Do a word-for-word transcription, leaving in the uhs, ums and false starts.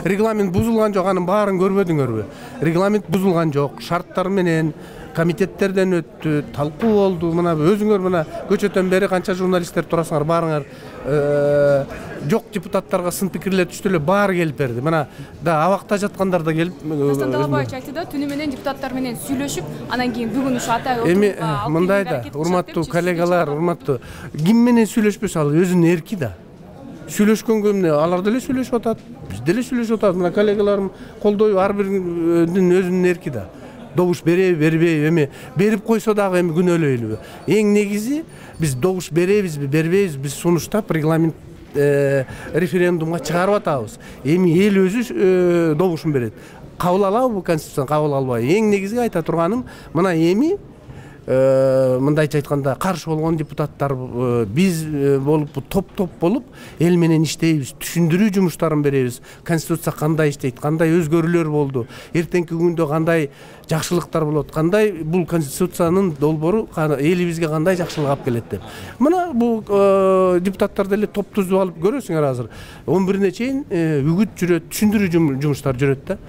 Регламент бузулган жок, анын баарын көрбөдүңөрбү? Регламент бузулган жок, шарттар менен комитеттерден өттү, талкуу болду. Мына өзүңөр мына көчөтөн бери канча журналисттер турасыңар, баарыңар жок депутаттарга сын пикирлер түштү эле, баары келип берди. Мына да абакта жаткандар да келип. Дастан Талабаевич айтты да, түнү менен депутаттар менен сүйлөшүп, анан кийин бүгүн ушу атай отурууга. Эми мындай да, урматтуу коллегалар, урматтуу, ким менен сүйлөшпөсө ал өзүнүн эрки да. Сүйлөшкөнгө эмне, алар деле сүйлөшүп атат, биз деле сүйлөшүп атабыз. Мына коллегаларым колдойбу, ар биринин өзүнүн эрки да. Добуш береби, бербейби, эми берип койсо дагы эми күнөөлөйлүбү? Эң негизи биз добуш беребизби, бербейбизби, биз сунуштап регламент референдумга чыгарып атабыз. Эми эл өзү добушун берет. Кабыл алабы конституцияны, кабыл албайбы? Эң негизи айта турганым, мына эми мындайча айтканда каршы болгон депутаттар биз болуп топ-топ болуп эл менен иштейбиз, түшүндүрүү жумуштарын беребиз. Конституция кандай иштейт, кандай өзгөрүүлөр болду, эртеңки күндө кандай жакшылыктар болот, кандай бул конституциянын долбоору элибизге кандай жакшылык алып келет деп. Мына бул депутаттар деле топ түзүп алып көрөсүңөр азыр он бирине чейин үгүт жүрөт, түшүндүрүү жумуштар жүрөт да.